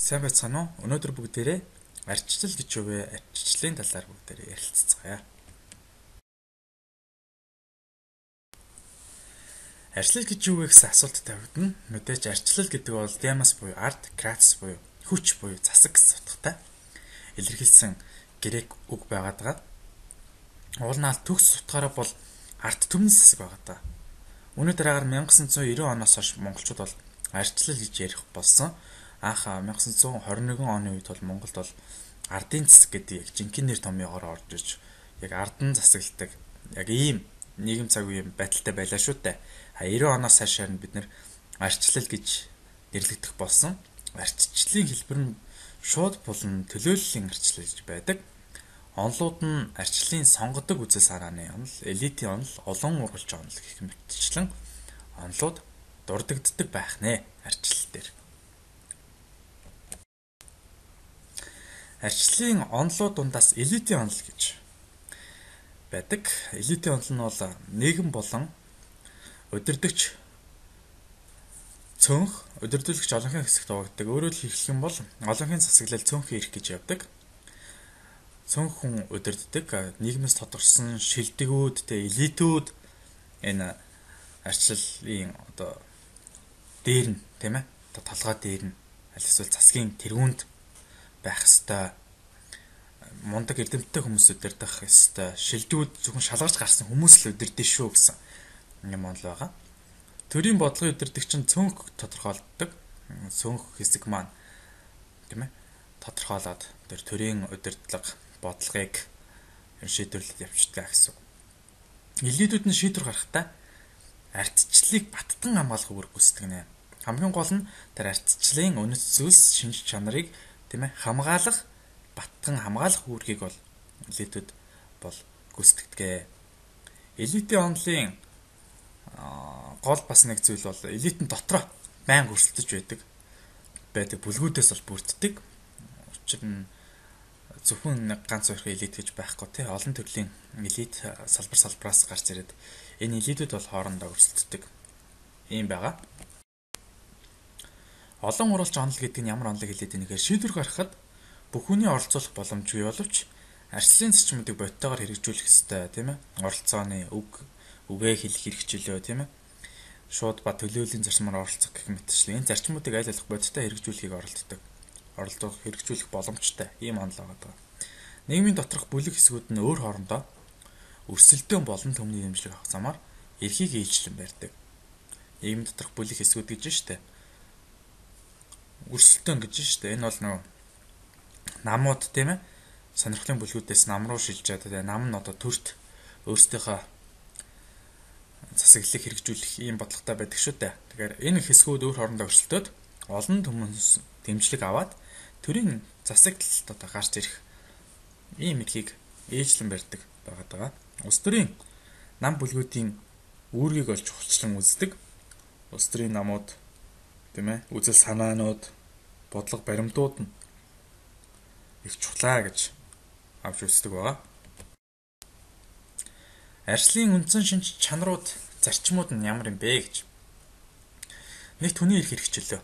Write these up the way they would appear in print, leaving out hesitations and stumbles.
Сайн байцгаана уу? Өнөөдөр бүгдээрээ ардчлал гэж юу вэ? Ардчлалын талаар бүгдээрээ ярилцгаая. Ардчлал гэж юу вэ гэсэн асуулт тавигдана. Мэдээж ардчлал гэдэг бол демос буюу ард, кратос буюу хүч буюу засаг гэсэн утгатай илэрхийлсэн грек үг байгаад байгаа. Уулнаал төгс утгаараа бол ард түмэн засаг байгаад байгаа. Үүний дараагаар 1990 оноос хойш монголчууд бол ардчлал гэж ярих болсон. Анх 1921 оны үед бол Монголд бол ардын засаг гэдэг яг жинхэнэ нэр томьёогоор орж иж яг ардан засагладаг яг ийм нийгэм цаг үеийн байдалтай байлаа шүү дээ. 90 оноос хойш бид нэр ардчлал гэж нэрлэгдэх болсон. Ардчлалын хэлбэр нь шууд булан төлөөллийн ардчлал гэж байдаг. Онолууд нь ардчлалын сонгодог үзэл санааны онол, элитийн онол, олон ургалж онол гэх мэтчлэн онолууд дурддагддаг байх нэ ардчлал дээр. Ардчлалын онолууд дундаас элитийн онол гэж байдаг. Элитийн онол нь бол нийгэм болон удирдагч цөөнх, удирдлагч олонхын хэсэгт хуваагддаг. Өөрөөр хэлэх юм бол олонхын засаглал цөөнхийн эрх гэж явдаг. Цөөнх хүн удирддаг, нийгмээс тодорхойлсон шилдэгүүд, элитүүд энэ ардчлалын дээр нь тийм ээ толгой дээр нь аль эсвэл засгийн тэргуунд байх ёстой, мундаг эрдэмтдээ хүмүүс удирдах ёстой, шилдэгүүд зөвхөн шалгарч гарсан хүмүүс л удирдах шүү гэсэн юм онол байгаа. Төрийн бодлогын удирдагч нь цөөнх тодорхойлдог. Цөөнх хэсэг маань тийм ээ тодорхойлоод тэр төрийн удирдлага бодлогыг шийдвэрлэж явчихдаг гэсэн. Элитүүд нь шийдвэр гаргахтаа ардчлалыг баттан хамгаалах үүрэг гүйцэтгэв нэ. Хамгийн гол нь тэр ардчлалын үнэт зүйлс, шинж чанарыг тийм ээ хамгаалах, баттан хамгаалах үүргийг бол элитүүд бол гүйцэтгэдэг. Элитийн онолын гол бас нэг зүйл бол элитэн дотроо байнга өрсөлдөж байдаг бүлгүүдээс бол бүрддэг. Учир нь зөвхөн нэг ганц хоёрын элит гэж байхгүй тий олон төрлийн элит салбараас гарч ирээд энэ элитүүд бол хоорондоо өрсөлддөг юм байгаа. Олон уралж онол гэдэг нь ямар онолыг хэлээд байгааг шийдвэр гаргахад бүх хүний оролцуулах боломжгүй боловч ардчлалын зарчмуудыг бодтойгоор хэрэгжүүлэх ёстой тийм ээ. Оролцооны үгээ хэлэх хэрэгчлөө тийм ээ. Шууд ба төлөөллийн зарчмаар оролцох гэх мэтчлэн энэ зарчмуудыг аль болох бодтой хэрэгжүүлэхийг оролдох хэрэгжүүлэх боломжтой ийм онол байгаа. Нийгмийн доторх бүлэг хэсгүүд нь өөр хоорондоо өрсөлдөөн болон төмний дэмжлэг авах замаар эрхийг ээлжлэн барьдаг. Нийгмийн доторх бүлэг хэсгүүд гэж штэ. Өрсөлдөөн гэж штэ. Энэ бол нөгөө намууд тийм ээ. Сонирхлын бүлгүүдээс нам руу шилжээд нам нь одоо төрт өөрсдийнхөө засаглалыг хэрэгжүүлэх ийм бодлоготой байдаг шүү дээ. Тэгэхээр энэ хэсгүүд өөр хоорондоо өрсөлдөөд олон түмэнс дэмжлэг аваад төрийн засаглалд одоо гарч ирэх ийм эрхийг ээлжлэн барьдаг байгаа. Улс төрийн нам бүлгүүдийн үүргийг олж чухалчлан үздэг. Улс төрийн намууд тийм ээ үзэл санаанууд, бодлого баримтууд нь их чухлаа гэж авч үздэг байгаа. Ардчлалын үндсэн шинж чанарууд, зарчмууд нь ямар юм бэ гэж. Нэгт хүний эрх хэрэгчлөө.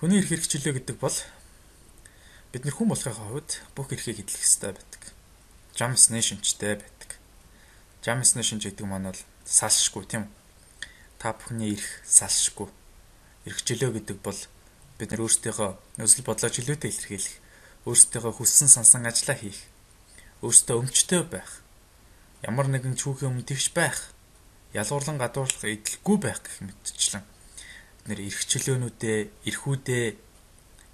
Хүний эрх хэрэгчлөө гэдэг бол бид нар хүн болохын хувьд бүх эрхийг эдлэх ёстой байдаг. Жам ёсны шинжтэй байдаг. Жам ёсны шинж гэдэг маань бол салшгүй тийм үү? Та бүхний эрх салшгүй. Эрхчлөө гэдэг бол бид нар өөрсдийнхөө өсөл бодлоо чөлөөтэй илэрхийлэх, өөрсдийнхөө хүссэн сансан ажлаа хийх, өөрсдөө өмчтэй байх, ямар нэгэн чүүхийн өмнө тэгш байх, ялгуурлан гадуурлах эдлэхгүй байх гэх мэтчлэн бид нэр эрхчлөөнүүдээ, эрхүүдээ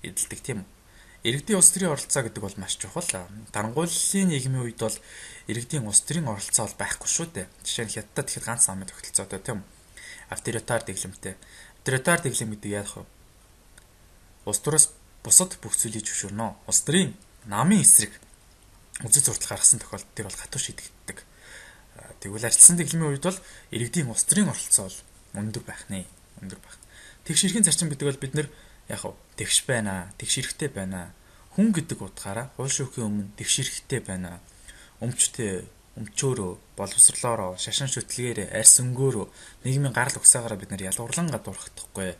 эдэлдэг тийм үү. Иргэдийн улс төрийн оролцоо гэдэг бол маш чухал. Дарангуйллын нийгмийн үед бол иргэдийн улс төрийн оролцоо бол байхгүй шүү дээ. Жишээ нь Хятадд ихэд ганц намын тогтолцоотой тийм үү. Авторитар дэглэмтэй. Авторитар дэглэм гэдэг яах вэ? Улс төрөөс бусад бүх зүйлийг зөвшөөрнө. Улс төрийн намын эсрэг үзэл суртал гаргасан тохиолдолд тэр бол хатуу шийдэгддэг. Тэгвэл ардчлалын дэглэмийн үед бол иргэдийн улс төрийн оролцоо бол өндөр байх нэ. Өндөр байх. Тэгш эрхийн зарчим гэдэг бол бид нэр яг тэгш байна, тэгш эрэхтэй байна. Хүн гэдэг утгаараа уул шүүхийн өмнө тэгш эрэхтэй байна. Өмчтэй, өмчөөрөө, боловсрлоороо, шашин шүтлгээрээ, арьс өнгөөрөө нийгмийн гарал угсаагаараа бид нар ялгуурлан гадуурхдахгүй.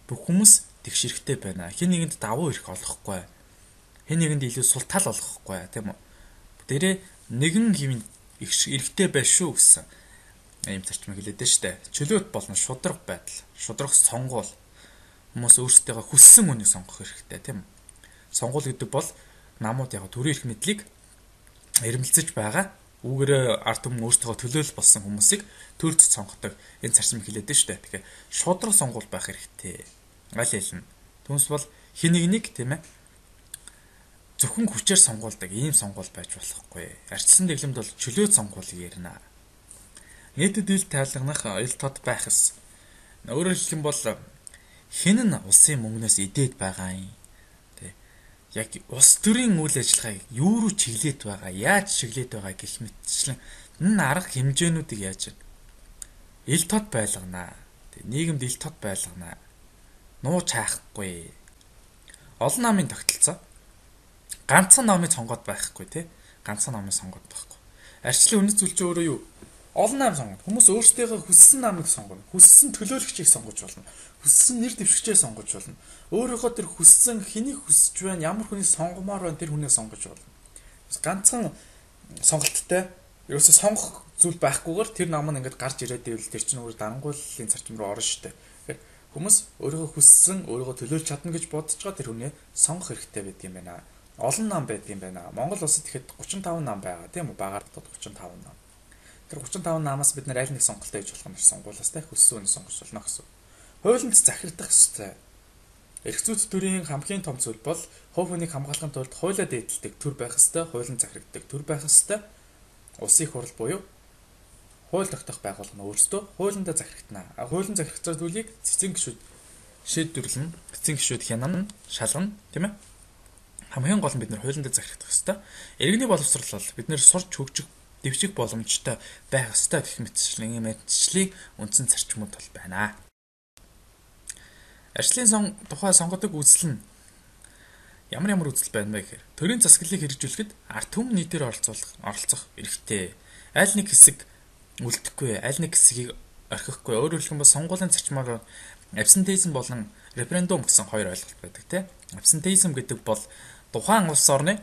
Бүх хүмүүс тэгш хэрэгтэй байна. Хэн нэгэнд давуу эрх олохгүй. Хэн нэгэнд илүү сул тал олохгүй тийм үү? Тэрэ нэгэн хэвэн эрхтэй байл шүү гэсэн ийм зарчмыг хэлээд дээ штэ. Чөлөөт болон шудраг байдал, шудраг сонгуул хүмүүс өөрсдөө хүссэн үнийг сонгох хэрэгтэй тийм үү? Сонгуул гэдэг бол намууд яг төрийн эрх мэдлийг эрмэлзэж байгаа үүгээр ард түмэн өөрсдөө төлөөлөл болсон хүмүүсийг төрд сонгодог энэ зарчмыг хэлээд дээ штэ. Тэгэхээр шудраг сонгуул байх хэрэгтэй. Аль хэлнэ. Түүнээс бол хэн нэгнийг тийм ээ зөвхөн хүчээр сонгуулдаг ийм сонгуул байж болохгүй. Арчилсан дэглэмд бол чөлөөт сонгуулийг ярина. Нийтэд ил тайлгнах ил тод байх ёс. Өөрөөр хэлэх юм бол хэн нь улсын мөнгнөөс идээд байгаа юм. Тэ. Яг улс төрийн үйл ажиллагааг юу руу чиглээд байгаа, яаж чиглээд байгаа гэх мэтчлэн энэ арга хэмжээнүүдийг яаж ил тод байлгана. Тэ. Нийгэмд ил тод байлгана. Нуу чаахгүй. Олон намын тогтолцоо ганцхан намыг сонгоод байхгүй тий. Ганцхан намыг сонгоод байхгүй. Арчлын үнэт зүйл чинь өөрөө юу? Олон нам сонгоно. Хүмүүс өөрсдийнхөө хүссэн намыг сонгоно. Хүссэн төлөөлөгчийг сонгож болно. Хүссэн нэр дэвшигчээ сонгож болно. Өөрийнхөө тэр хүссэн хэнийг хүсэж байна, ямар хүнийг сонгомоор байна тэр хүнийг сонгож болно. Ганцхан сонголттой ерөөсө сонгох зүйл байхгүйгээр тэр нам нь ингээд гарч ирээд ивэл тэр чинь өөр дангууллын зарчим руу орно шүү дээ. Тэгэхээр хүмүүс өөрийнхөө хүссэн, өөрийгөө төлөөлж чадна гэж бодож байгаа тэр хүнийг сонгох хэрэгтэй байдаг юм байна. Олон нам байдаг юм байна. Монгол улсад ихэд 35 нам байгаа тийм үү? Багаар 35 нам. Тэр 35 намаас бид нэр аль нэг сонголтоо хийж болох юм шиг сонгуулаас та хүссэн үнийг сонгож болно гэсэн. Хуулинд захирагдах ёстой. Эрх зүйц төрийн хамгийн том зүйл бол хувь хүнийг хамгаалахын тулд хуулиа дээдэлдэг төр байх ёстой, хуулинд захирагддаг төр байх ёстой. Улсын хурал буюу хууль тогтоох байгууллага нь өөрсдөө хуулиндаа захирагдана. Хуулинд захирагдсан зүйлийг цэцэн гишүүд шийдвэрлэн, цэцэн гишүүд хянана, шалгана, тийм ээ? Хамгийн гол нь бид нэр хуулиндаа захирагдах ёстой. Иргэний боловсрол бол бид нэр сурч хөгжих дэвших боломжтой байх ёстой гэх мэтчлэн мэдчлийг үндсэн зарчмууд бол байна. Арчлын тухай сонгодог үзэл нь ямар үзэл байна вэ гэхээр төрийн засаглалыг хэрэгжүүлэхэд ард түмэн нийтээр оролцох эрхтэй. Аль нэг хэсэг үлдэхгүй, аль нэг хэсгийг орхихгүй. Өөрөөр хэлбэл сонгуулийн зарчмаар абсентеизм болон референдум гэсэн хоёр ойлголт байдаг тийм. Абсентеизм гэдэг бол тухайн улс орнд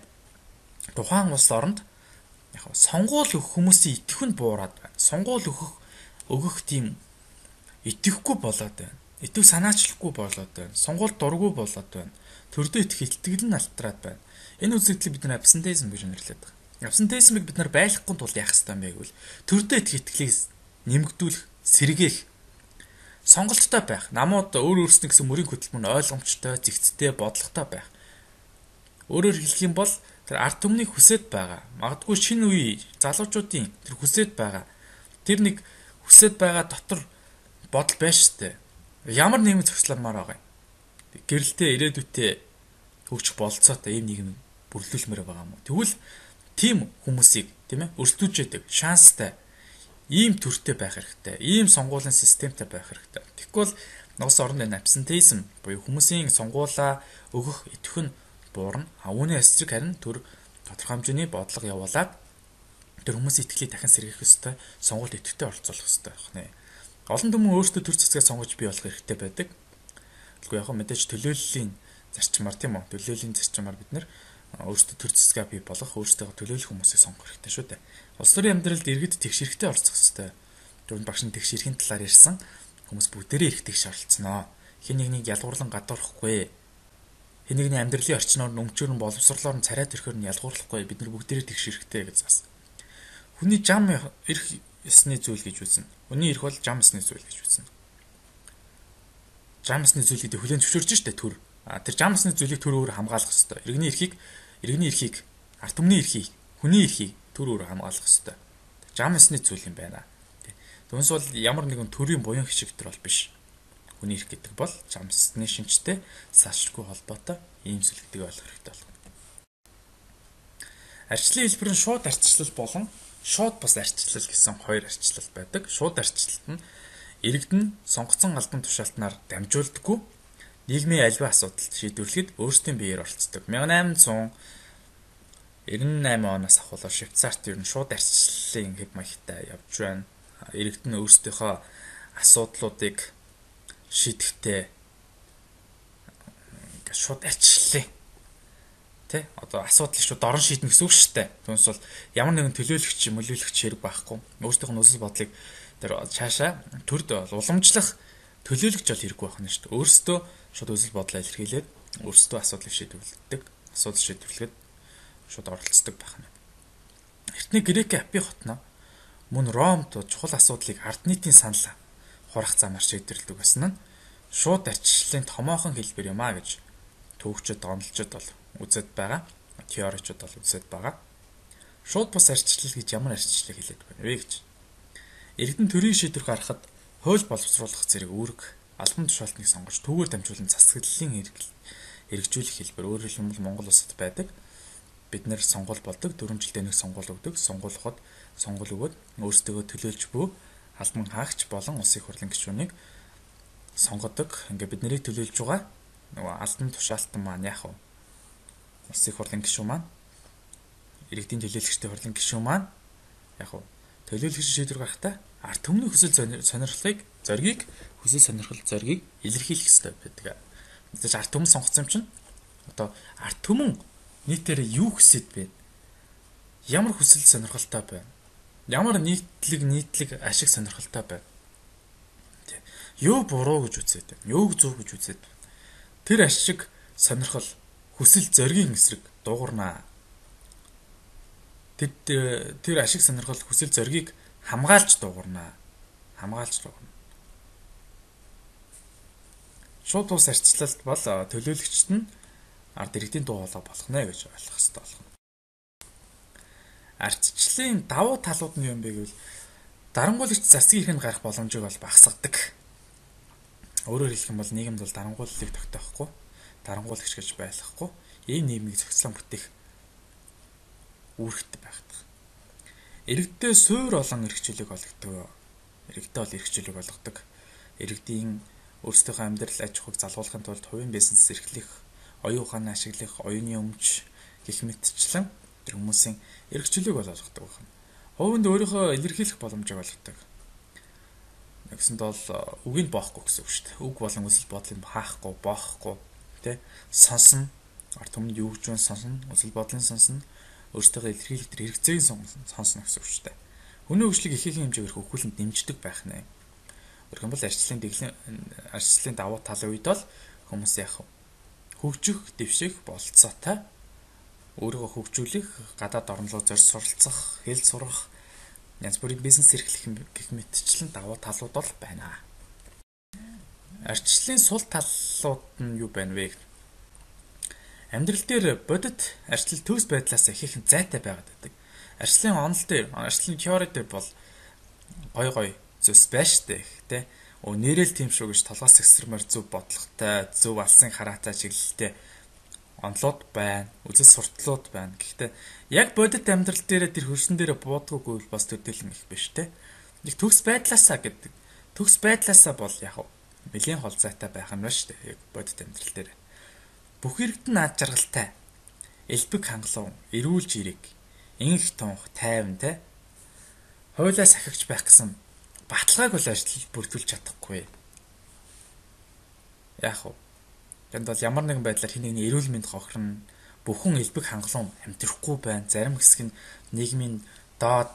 яг сонгуул өгөх хүмүүсийн итгэх нь буураад байна. Сонгуул өгөх тийм итгэхгүй болоод байна. Итгэх санаачлахгүй болоод байна. Сонгуульд дургүй болоод байна. Төрдөө итгэх итгэл нь алтраад байна. Энэ үзэгдлийг бид нар абсентеизм гэж нэрлэдэг байна. Абсентеизмыг бид нар байлгахгүй тул яах ёстой юм бэ гэвэл төрдөө итгэх итгэлийг нэмэгдүүлэх, сэргээх, сонголттой байх. Намууд өөр өөрснөө гэсэн мөрийн хөтөлбөр нь ойлгомжтой, зэгцтэй, бодлоготой байх. Өөрөөр хэлэх юм бол тэр ард түмний хүсэд байгаа. Магадгүй шинэ үе залуучуудын тэр хүсэд байгаа. Тэр нэг хүсэд байгаа дотор бодол байж штэ. Ямар нийгэм зохицламаар байгаа юм. Гэрэлтэй ирээдүйтэй хөгжих болцоотой ийм нийгэм бүрлүүлмээр байгаа юм уу? Тэгвэл тийм хүмүүсийг тийм ээ өрсөлдүүлж яадаг шанстай ийм төртэй байх хэрэгтэй. Ийм сонгуулийн системтэй байх хэрэгтэй. Тэгвэл улс орны абсентеизм буюу хүмүүсийн сонгуулаа өгөх итгэх нь буурна. Үүний эсрэг харин төр тодорхой хэмжээний бодлого явуулаад тэр хүмүүсийн итгэлийг дахин сэргээх ёстой, сонгуульд идэвхтэй оролцуулах ёстой байна. Олон түмэн өөрсдөө төр засгаа сонгож бий болох хэрэгтэй байдаг. Тэгвэл яг мэдээж төлөөллийн зарчмаар тийм үү? Төлөөллийн зарчмаар бид нэр өөрсдөө төр засгаа бий болгох, өөрсдөө төлөөлөх хүмүүсийг сонгох хэрэгтэй шүү дээ. Улс төрийн амьдралд иргэд тэгш хэрэгтэй оролцох ёстой. Түрүүнд багш нь тэгш эрхийн талаар ярьсан хүмүүс бүгдээрээ эрх тэгш оролцсноо. Хэн нэгнийг ялгуурлан гадуурхахгүй. Хэн нэгний амьдралын орчноор өмчөөр нь боловсрлоор нь царайд ирэхээр нь ялгуурлахгүй. Бид нар бүгдээрээ тэгш хэрэгтэй гэж зас. Хүний жам эрх ёсны зүйл гэж үзнэ. Хүний эрх бол жам ёсны зүйл гэж үзнэ. Жам ёсны зүйл гэдэг хүлээн зөвшөөрч штэ төр. Тэр жам ёсны зүйлийг төр өөр хамгаалах ёстой. Иргэний эрхийг, ард түмний эрхийг, хүний эрхийг төр өөр хамгаалах ёстой. Жам ёсны зүйл юм байна. Түүнээс бол ямар нэгэн төрийн буян хишигтэр бол биш. Хүний эрх гэдэг бол жам ёсны шинжтэй салшгүй холбоотой ийм зүйл гэдгийг ойлгох хэрэгтэй байна. Арчлын хэлбэр нь шууд арчлал болон шууд бус арчлал гэсэн хоёр арчлал байдаг. Шууд арчлалт нь иргэд нь сонгогдсон албан тушаалтнаар дамжуулдаггүй нийгмийн аливаа асуудалд шийдвэрлэхэд өөрсдийн биеэр оролцдог. 1898 оноос ахуулаад Швейцарт ер нь шууд арчлалын хэв маягтай явж байна. Иргэд нь өөрсдийнхөө асуудлуудыг шийдэхдээ ингээд шууд арчлаа. Тэ? Одоо асуудлыг шууд дорн шийднэ гэсэн үг шүү дээ. Түүнээс бол ямар нэгэн төлөөлөгч мөлөөлөгч хэрэг байхгүй. Өөрсдийнх нь үзэл бодлыг тэр цаашаа төрд уламжлах төлөөлөгч бол хэрэггүй байх нь шүү дээ. Өөрсдөө шууд үзэл бодлоо илэрхийлээд өөрсдөө асуудлыг шийдвэрлэдэг. Асуудал шийдвэрлэхэд шууд оролцдог байх нь. Эртний Грек Апи хотно мөн Ромд чухал асуудлыг ард нийтийн санал хурах замаар шийдвэрлэдэг байсан нь шууд арчлалын томоохон хэлбэр юм а гэж төвөгчд онолчд бол үзээд байгаа. Теоричуд бол үзээд байгаа. Шууд бус арчлал гэж ямар арчлалыг хэлээд байна вэ гэж. Иргэдэн төрийн шийдвэр гаргахад хууль боловсруулах зэрэг үүрэг албан тушаалтныг сонгож түүгээр дамжуулан засаглалын хэрэгжүүлэх хэлбэр өөрөөр хэлбэл Монгол улсад байдаг. Бид нэр сонгуул болдог, 4 жилдээ нэг сонгуул өгдөг. Сонгуулахад сонгуул өгөөд өөрсдөө төлөөлж буй албан хаагч болон улсын хурлын гишүүнийг сонгодог. Ингээ бид нарыг төлөөлж байгаа нөгөө албан тушаалтан маань яах вэ? Улсын хурлын гишүүн маань, иргэдийн төлөөлөгчдийн хурлын гишүүн маань яах вэ? Төлөөлөгч шийдвэр гаргахтаа ард түмний хүсэл зоригийг илэрхийлэх ёстой байдаг. Мэдээж ард түмэн сонгоцсон юм чинь одоо ард түмэн нийтээр юу хүсэж байна? Ямар хүсэл сонирхолтой байна? Ямар нийтлэг ашиг сонирхолтой байна? Юу буруу гэж үзээд байна? Юуг зөв гэж үзээд байна? Тэр ашиг сонирхол хүсэл зоригийн эсрэг дуугарнаа. Тэр ашиг сонирхол хүсэл зоригийг хамгаалж дуугарнаа. Шууд бус арчлалт бол төлөөлөгчд нь ард иргэдийн дуу хоолой болох нэ гэж ойлгох хэрэгтэй болно. Ардчлалын давуу талууд нь юу юм бэ гэвэл дарангуулагч засгийн эрхэнд гарах боломжийг бол багасгадаг. Өөрөөр хэлэх юм бол нийгэмд бол дарангууллыг тогтоохгүй, дарангуулагч гэж байлгахгүй, ийм нийгмийг зохицлон бүтээх үүрэгтэй байдаг. Иргэдээ суур олон эрхчлөлийг олгодог. Иргэдийн өөрсдийнхөө амьдрал аж ахуйг залгуулахын тулд хувийн бизнес эрхлэх, оюун ухааны ашиглах, оюуны өмч гэх мэтчлэн тэр хүмүүсийн эрхчлөлийг олгодог байна. Хувинд өөрийнхөө илэрхийлэх боломжийг олгодог. Нэгсэнд бол үгийг боохгүй гэсэн үг шүү дээ. Үг болон үзэл бодлыг хаахгүй, боохгүй, тэ сонсно. Ард түмэнд юу гэж сонсно, үзэл бодлын сонсно, өөрсдөө илэрхийлэх тэр хэрэгцээг сонсно гэсэн үг шүү дээ. Хүний хөгжлийг ихээхэн хэмжээгээр хөгжүүлэлт дэмждэг байх нэ. Өөрөөр хэлбэл арчлалын давуу талын үед бол хүмүүс яах вэ? Хөгжих, дэвших болцоотой өөрийгөө хөгжүүлэх, гадаад орн руу зорж суралцах, хэл сурах, янз бүрийн бизнес эрхлэх гэх мэтчлэн давуу талууд бол байна. Арчлалын сул талууд нь юу байна вэ? Амьдрал дээр бодит арчлал төгс байдлаас ихээхэн зайтай байгаад байдаг. Арчлалын онол дээр, арчлалын теори дээр бол гой зүс байж тээ. Нэрэл тийм шүү гэж толгоос экстремээр зөв бодлоготой, зөв алсын хараатай чиглэлтэй онолууд байна, үзэл сурталууд байна. Гэхдээ яг бодит амьдрал дээр тэр хөрсөн дээр буудаггүй бас төдийлөн их биш те. Нэг төгс байдлаасаа гэдэг. Төгс байдлаасаа бол яг нэлийн хол зайтай байх нь байна шүү дээ. Яг бодит амьдрал дээр. Бүх иргэдэн наад жаргалтай, элбэг хангалуун, эрүүл жирэг, инх тунх, тайван те. Хойлоо сахигч байх гэсэн баталгааг бол ажил бүрдүүлж чадахгүй. Яах вэ? Тэнд бол ямар нэгэн байдлаар хин нэгний эрүүл мэнд хохирно, бүхэн элбэг хангалуун амьдрахгүй байна. Зарим хэсэг нь нийгмийн доод,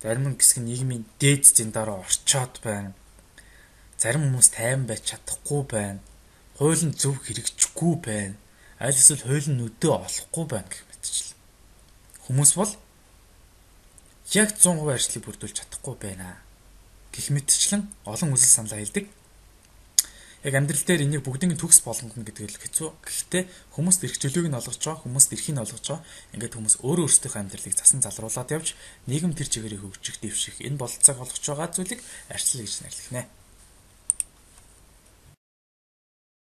зарим хэсэг нь нийгмийн дээд стандараар орчоод байна. Зарим хүмүүс тайван байж чадахгүй байна. Хууль нь зөв хэрэгжихгүй байна. Аль эсвэл хууль нь өдөө олохгүй байна гэх мэтчлэн. Хүмүүс бол яг 100% ажлыг бүрдүүлж чадахгүй байна. Гэх мэтчлэн олон үзэл саналаа хэлдэг. Яг амьдрал дээр энийг бүгдийн төгс болгоно гэдэг л хэцүү. Гэхдээ хүмүүст эрх чөлөөг нь олгож байгаа, хүмүүст эрхийг нь олгож байгаа. Ингээд хүмүүс өөрөө өөрсдийнхөө амьдралыг засан залруулад явж нийгэм тэр чигээрээ хөгжих, дэвших энэ бололцоог олгож байгаа зүйлийг арчлал гэж нэрлэх нэ.